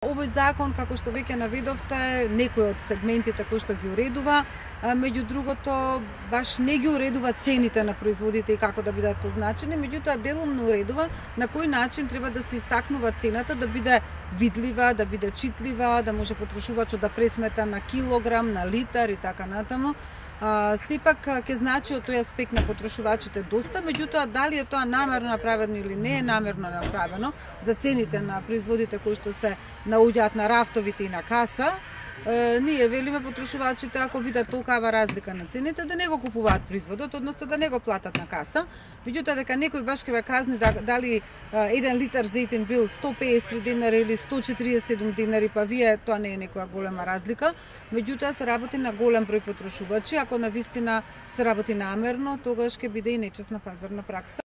Овој закон, како што веќе наведовте, некои од сегментите кои што ги уредува, меѓу другото баш не ги уредува цените на производите и како да бидат означени, меѓутоа делумно уредува на кој начин треба да се истакнува цената, да биде видлива, да биде читлива, да може потрошувачот да пресмета на килограм, на литар и така натаму. Сепак ќе значи од тој аспект на потрошувачите доста, меѓутоа дали е тоа намерно направено или не е намерно направено за цените на производите кои што се наоѓаат на рафтовите и на каса, ние велиме потрошувачите ако видат толкава разлика на цените да не го купуваат производот, односно да не го платат на каса. Меѓутоа дека некој баш ќе ве казни дали 1 литар зејтин бил 153 динари или 147 динари, па вие тоа не е некоја голема разлика. Меѓутоа се работи на голем број потрошувачи, ако навистина се работи намерно, тогаш ќе биде и нечесна пазарна пракса.